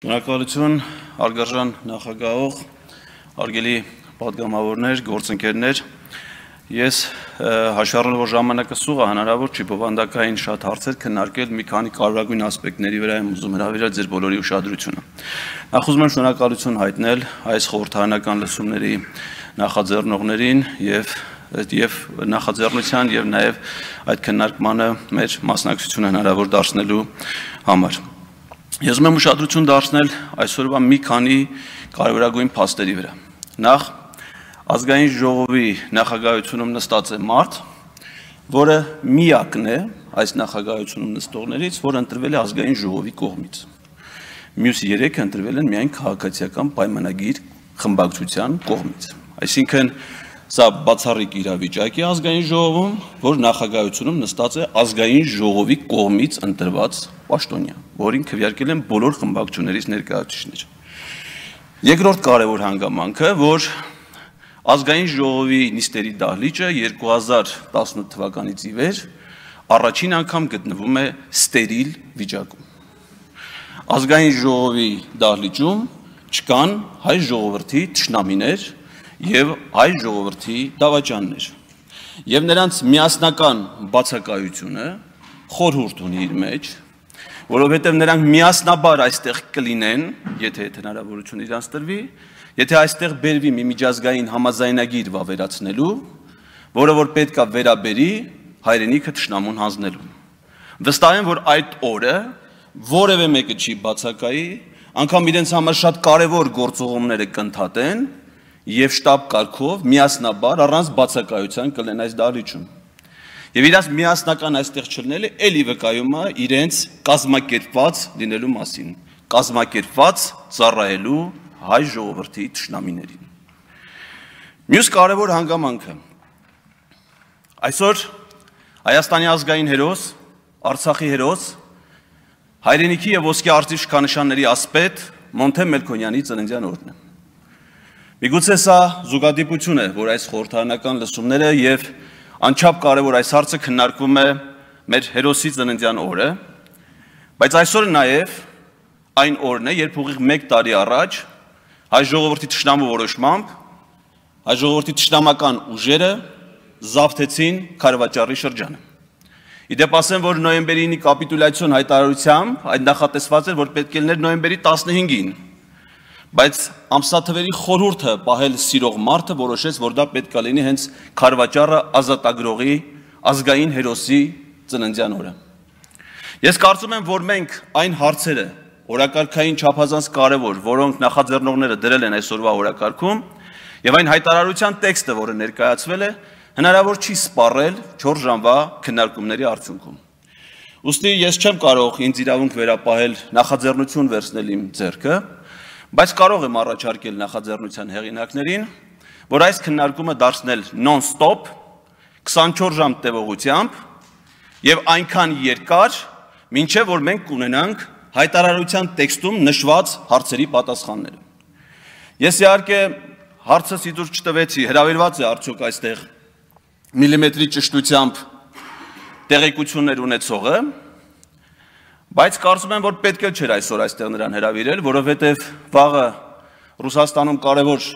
Շնորհակալություն, հարգարժան նախագահող, հարգելի պատգամավորներ, գործընկերներ, ես հաշվառելով որ ժամանակը սուղ է հնարավոր չի բովանդակային շատ հարցեր քննարկել մի քանի կարևորագույն ասպեկտների վրա եմ ուզում հրավիրել ձեր բոլորի ուշադրությունը։ Նախ ուզում եմ շնորհակալություն հայտնել այս խորհրդարանական լսումների նախաձեռնողներին եւ նախաձեռնության եւ նաեւ այդ քննարկմանը մեր մասնակցությունը հնարավոր դարձնելու համար։ Ես ուզում եմ ուշադրություն դարձնել այսօրվա մի քանի կարևորագույն փաստերի վրա։ Նախ ազգային ժողովի նախագահությունում նստած է մարդ, որը միակն է այս նախագահությունում նստողներից, որ ընտրվել է ազգային ժողովի կողմից։ Մյուս երեքը ընտրվել են միայն քաղաքացիական պայմանագիր խմբակցության կողմից։ Այսինքն սա բացառիկ իրավիճակ է ազգային ժողովում, որ նախագահությունում նստած է ազգային ժողովի կողմից ընտրված պաշտոնյա, որին քվեարկել են բոլոր խմբակցություններից ներկայացուցիչներ։ Երկրորդ կարևոր հանգամանքը, որ ազգային ժողովի նիստերի դահլիճը 2018 թվականից ի վեր առաջին անգամ գտնվում է ստերիլ վիճակում։ Ազգային ժողովի դահլիճում չկան հայ ժողովրդի թշնամիներ եւ հայ ժողովրդի դավաճաններ։ Եվ նրանց միասնական բացակայությունը խորհուրդ ունի իր մեջ, որովհետև նրանք միասնաբար այստեղ կլինեն, եթե հնարավորություն իրանց տրվի, եթե այստեղ բերվի մի միջազգային համաձայնագիր վավերացնելու, որը որ պետք է վերաբերի հայրենիքը թշնամուն հանձնելու։ Վստահ եմ, որ այդ օրը որևէ մեկը չի բացակայի, անգամ իրենց համար շատ կարևոր գործողումները կընդհատեն եւ շտաբ կարգով միասնաբար առանց բացակայության կլեն այս դահլիճում։ Եվ իրաց միասնական այստեղ չլինելը էլի վկայում է իրենց կազմակերպված լինելու մասին, կազմակերպված ծառայելու հայ ժողովրդի թշնամիներին։ Մյուս կարևոր հանգամանքը։ Այսօր Հայաստանի ազգային հերոս, Արցախի հերոս, հայրենիքի եւ ոսկե արծիվ շքանշանների ասպետ Մոնթե Մելքոնյանի ծննդյան օրն է։ Միգուցե սա զուգադիպություն է, որ այս խորհրդարանական լսումները եւ անչափ կարևոր այս հարցը քննարկվում է մեր հերոսի ծննդյան օրը, բայց այսօր նաեւ այն օրն է, երբ ուղիղ 1 տարի առաջ հայ ժողովրդի թշնամու որոշմամբ հայ ժողովրդի թշնամական ուժերը զավթեցին Քարվաճառի շրջանը։ Իդեպ ասեմ, որ նոյեմբերի 9-ի կապիտուլյացիոն հայտարարությամբ այդ նախատեսված էր, որ պետք է լիներ նոյեմբերի 15-ին, բայց ամսաթվերի խորհուրդը պահել սիրող մարդը որոշեց, որ դա պետք է լինի հենց Քարվաճառը ազատագրողի ազգային հերոսի ծննդյան օրը։ Ես կարծում եմ, որ մենք այն հարցերը օրակարգային չափազանց կարևոր, որոնք նախաձեռնողները դրել են այսօրվա օրակարգում, եւ այն հայտարարության տեքստը, որը ներկայացվել է, հնարավոր չի սպառել 4 ժամվա քննարկումների արդյունքում։ Ուստի ես չեմ կարող ինձ իրավունք վերապահել նախաձեռնություն վերցնել իմ ձեռքը, բայց կարող եմ առաջարկել նախաձեռնության հեղինակներին, որ այս քննարկումը դարձնել non-stop 24 ժամ տևողությամբ եւ այնքան երկար, մինչեւ որ մենք կունենանք հայտարարության տեքստում նշված հարցերի պատասխանները։ Ես իհարկե հարցս իդուր չտվեցի, հրավիրված է արդյոք այստեղ միլիմետրի ճշտությամբ տեղեկություններ ունեցողը, բայց կարծում եմ, որ պետք է չէր այսօր այստեղ նրան հրավիրել, որովհետև վաղը Ռուսաստանում կարևոր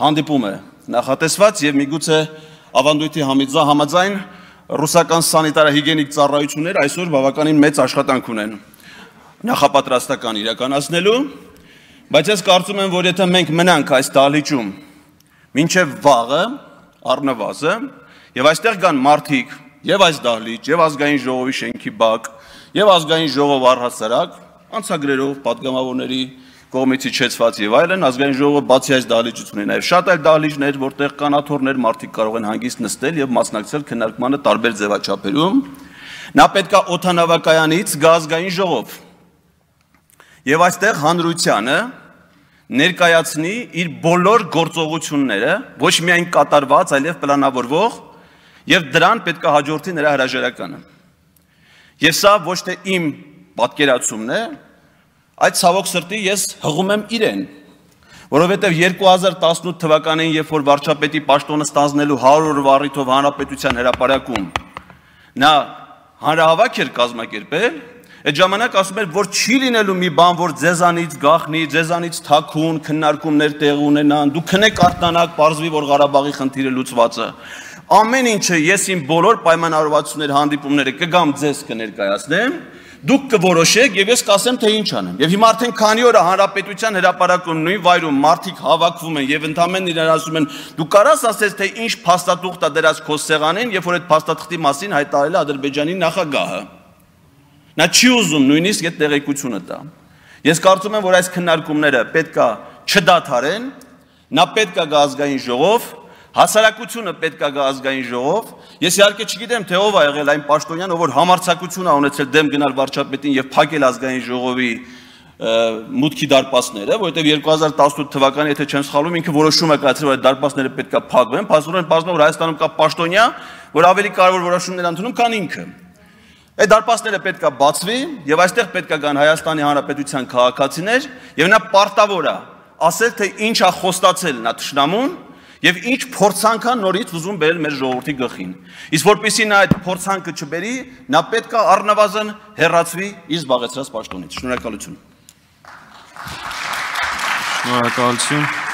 հանդիպում է նախատեսված եւ միգուցե ավանդույթի համաձայն ռուսական սանիտարահիգիենիկ ծառայությունները այսօր բավականին մեծ աշխատանք ունեն նախապատրաստական իրականացնելու, բայց ես կարծում եմ, որ եթե մենք մնանք այս դահլիճում մինչեւ վաղը առնվազն եւ այստեղ կան մարդիկ եւ այս դահլիճ եւ ազգային ժողովի շենքի բակ եւ ազգային ժողով առհասարակ անցագրերով պատգամավորների կողմից իջեցված եւ այլն ազգային ժողովը բացի այս դահլիճից ունի նաեւ շատ այլ դահլիճներ, որտեղ կանաթոռներ մարդիկ կարող են հանգիստ նստել եւ մասնակցել քննարկմանը տարբեր ձևաչափերում, նա պետքա օդանավակայանից գա ազգային ժողով եւ այստեղ հանրությանը ներկայացնի իր բոլոր գործողությունները, ոչ միայն կատարված, այլև պլանավորվող եւ դրան պետքա հաջորդի նրա հրաժարականը։ Եվ սա ոչ թե իմ պատկերացումն է, այդ ցավոք սրտի ես հղում եմ իրեն, որովհետև 2018 թվականին, երբ որ վարչապետի պաշտոնը ստանձնելու 100 օրվա առիթով հանրապետության հրապարակում նա հանրահավաք էր կազմակերպել, Այդ ժամանակ ասում էր, որ չի լինելու մի բան, որ ձեզանից գախնի, ձեզանից թաքուն, քննարկումներ տեղ ունենան, դուք քնեք արթնանաք, պարզվի, որ Ղարաբաղի խնդիրը լուծված է։ Ամեն ինչը ես իմ բոլոր պայմանավորվածությունների հանդիպումները կգամ ձեզ կներկայացնեմ, դուք կորոշեք եւ ես կասեմ թե ինչ անեմ։ Եվ հիմա արդեն քանի օր հանրապետության հրապարակում նույն վայրում մարդիկ հավաքվում են եւ ընդամենը իրար ասում են դու կարաս ասես թե ինչ փաստաթուղթ է դրած քո սեղանին, երբ որ այդ փաստաթղթի մասին հայտարարել է Ադրբեջանի նախագահը։ Նա չի ուզում նույնիսկ այդ տեղեկությունը տա։ Ես կարծում եմ, որ այս քննարկումները պետքա չդադարեն, նա պետքա գա ազգային ժողով, հասարակությունը պետքա գա ազգային ժողով։ Ես իհարկե չգիտեմ, թե ով է եղել այն պաշտոնյան, ով որ համարձակություն է ունեցել դեմ գնալ վարչապետին եւ փակել ազգային ժողովի մուտքի դարպասները, որովհետեւ 2018 թվականին, եթե չեմ սխալվում, ինքը որոշում է կայացրել, որ այդ դարպասները պետքա փակվեն, փաստորեն պարզվում որ Հայաստանում կա պաշտոնյա, որ ավելի կարևոր որոշումներ ընդունում, քան ինքը։ Այդ դարպասները պետքա բացվի եւ այստեղ պետքա գան Հայաստանի Հանրապետության քաղաքացիներ եւ նա պարտավոր է ասել թե ինչ է խոստացել նա թշնամուն եւ ինչ փորձանքա նորից ուզում բերել մեր ժողովրդի գլխին։ Իսկ որպեսզի նա այդ փորձանքը չբերի, նա պետքա առնվազն հեռացվի իր զբաղեցրած պաշտոնից։ Շնորհակալություն։ Շնորհակալություն։